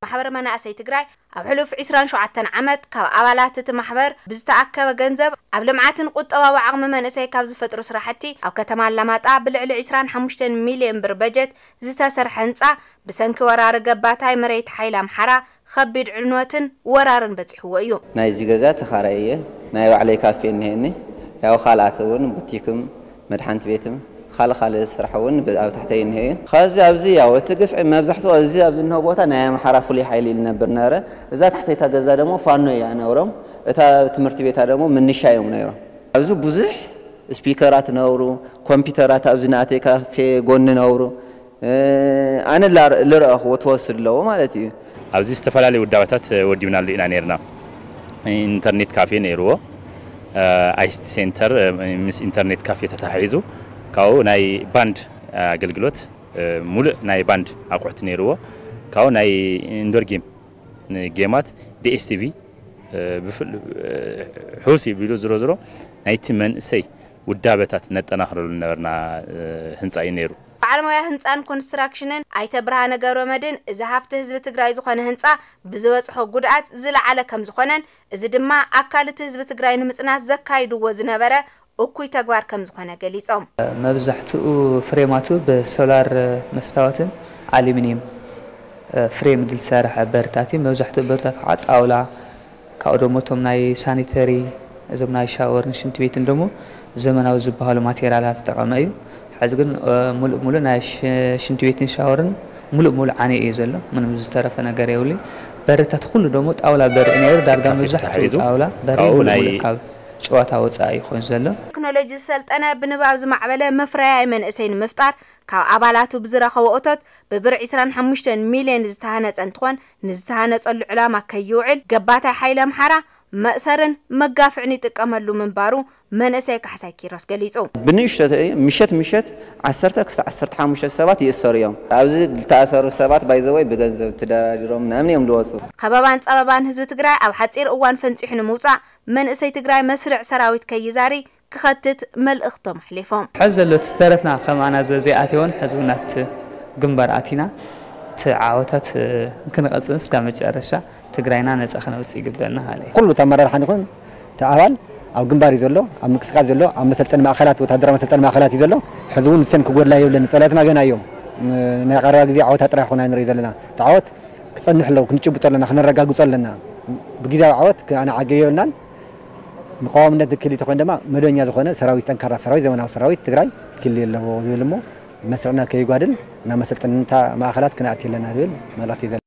ማሕበር መናእሰይ ትግራይ ኣብ ሕሉፍ ዕስራን ሸውዓተን ዓመት ካብ ኣባላት እቲ ማሕበር ብዝተኣከበ ገንዘብ ኣብ ልምዓትን ቁጠባዊ ዓቕሚ መንእሰይ ካብ ዝፈጥሩ ስራሕቲ ኣብ ከተማ ኣላማጣ ብልዕሊ ዕስራን ሓሙሽተን ሚልዮን ብር በጀት ዝተሰርሐ ህንፃ ብሰንኪ ወራሪ ገባታይ መሬት ሓይሊ ኣምሓራ ከቢድ ዕንወትን ወራርን በፂሕዎ እዩ። ናይዚ ገዛ ተኻራይ እየ። ናይ ባዕለይ ካፌ እኒሀኒ። ያው ካልኣት እውን ቡቲክም መድሓንቲ ቤትም ካልእ ካልእ ስራሕ እውን ብ-፣ ኣብ ታሕተይ እኒሀ እዩ። ከዚ ኣብዚ ያው እቲ ግፍዒ መብዛሕትኡ እዚ ኣብዚ እንሆ ቦታ ናይ ኣምሓራ ፍሉይ ሓይሊ ይነብር ነበረ። እዛ ታሕተይታ ገዛ ደግሞ ፋኖ እያ ነብሮም። እታ ትምህርቲ ቤታ ደግሞ ምንሻ እዮም ነይሮም። ኣብዚ ብዙሕ ስፒከራት ነብሩ፣ ኮምፒውተራት ኣብዚ ናተይ ካፌ ጎኒ ነብሩ። እ፣ ኣነ ላር-፣ ልረኣኽዎ ትወስድ ኣለዎ ማለት እዩ። ኣብዚ ዝተፈላለዩ ውዳበታት ወዲብናሉ ኢና ነይርና። ኢንተርኔት ካፌ ነይርዎ፣ እ፣ ኣይሲቲ ሴንተር፣ እ፣ ምስ ኢንተርኔት ካፌ ተተሓሒዙ ካብኡ ናይ ባንድ ኣገልግሎት፣ እ፣ ሙሉእ ናይ ባንድ ኣቑሑት ነይርዎ። ካብኡ ናይ ኢንዶር ጌም፣ ጌማት፣ ዲኤስቲቪ፣ እ፣ ብፍል-፣ እ፣ ሕውስ ይቢሉ ዝሮ ዝሮ ናይቲ መንእሰይ ውዳበታት ነጠናኽረሉ ነበርና፣ እ፣ ህንፃ እዩ ነይሩ። በዓል ሞያ ህንፃን ኮንስትራክሽንን ኣይተ ብርሃነ ገብረ መድህን፣ እዚ ሃፍቲ ህዝቢ ትግራይ ዝኾነ ህንፃ ብዝበፅሖ ጉድኣት ዝለዓለ ከም ዝኾነን፣ እዚ ድማ ኣካል እቲ ህዝቢ ትግራይ ንምፅናት ዘካይድዎ ዝነበረ እኩይ ተግባር ከም ዝኾነ ገሊፆም። መብዛሕትኡ ፍሬማቱ ብሶላር መስታወትን ኣሉሚኒየም ፍሬም ዝሰርሐ በርታት እዩ። መብዛሕትኡ በርታት ከዓ ጣውላ፣ ካብኡ ደሞ እቶም ናይ ሳኒተሪ፣ እዞም ናይ ሻወርን ሽንቲ ቤትን ደሞ ዘመናዊ ዝበሃሉ ማቴሪያላት ዝጠቐመ እዩ። ሕዚ ግን፣ እ፣ ሙሉእ ሙሉእ ናይ ሽ-፣ ሽንቲ ቤትን ሻወርን ሙሉእ ሙሉእ ዓንዩ እዩ ዘሎ። ምንም ዝተረፈ ነገር የብሉን። በርታት ኩሉ ደሞ ጣውላ በሪ እዩ ነይሩ። ዳርጋ ካፌ መብዛሕትኡ ተታሒዙ ጣውላ በሪ ካብኡ ሙሉእ ናይ ሙሉእ ካብ ጨዋታ ወፃኢ ኮይኑ ዘሎ። ቴክኖሎጂ ዝሰልጠነ፣ ብንባብ ዝማዕበለ መፍረያይ መንእሰይ ንምፍጣር ካብ ኣባላቱ ብዝረኸቦ እቶት ብብር ዕስራን ሓሙሽተን ሚልዮን ዝተሃነፀ እንትኾን፣ ንዝተሃነፀሉ ዕላማ ከይውዕል ገባታይ ሓይሊ ኣምሓራ መእሰርን መጋፍዕን ይጥቀመሉ ምንባሩ መንእሰይ ካሕሳይ ኪሮስ ገሊፁ። ብንእሽቶ ምሸት ምሸት ዓሰርተ ክሳብ ዓሰርተ ሓሙሽተ ሰባት ይእሰሩ እዮም። ኣብዚ ዝተኣሰሩ ሰባት ባይዘወይ ብገንዘብ ተደራዲሮም ምናምን እዮም ዝወፁ። ከበባን ፀበባን ህዝቢ ትግራይ ኣብ ሓፂር እዋን ፈንፂሑ ንምውፃእ መንእሰይ ትግራይ መስርዕ ሰራዊት ከይዛሪ ክኸትት መልእኽቶም ኣሕሊፎም። ሕዚ ዘሎ እቲ ዝተረፍና ከም ኣናዘ ዘይኣተወን ሕዚ እውን ናብቲ ግንባር ኣቲና እቲ ዓወታት፣ እ፣ ክንቐጽል እስካብ መጨረሻ ትግራይና ነጻ ክነውጽእ ይግበአና ሃለ። ኩሉ እቲ ኣመራርሓ ይኹን እቲ ኣባል ኣብ ግንባር እዩ ዘሎ፣ ኣብ ምንቅስቃስ ዘሎ፣ ኣብ መሰልጠኒ ማእከላት፣ ወታደራዊ መሰልጠኒ ማእከላት እዩ ዘሎ። ሕዚ እውን ንሰን ክጎድላ የብለን፣ ጸላእትና ገና እዮም። እ፣ ናይ ቀረባ ግዜ ዓወታት ጥራይ ይኾና ንርኢ ዘለና። እቲ ዓወት ክጸንሕ ኣለዎ፣ ክንጭብጦ ኣለና፣ ክነረጋግጾ ኣለና። ብግዜያዊ ዓወት ኣነ ዓገብ የብልናን። ንቀዋምነት ዝክል ተኾይኑ ድማ መደበኛ ዝኾነ ሰራዊት፣ ጠንካራ ሰራዊት፣ ዘመናዊ ሰራዊት ትግራይ ክህልዮ ኣለዎ ዝብል እሞ መስርዕና ከይጓድል ናብ መሰልጠንታ ማእከላት ክንኣቲ ኣለና ዝብል መልእኽቲ እዩ ዘለና።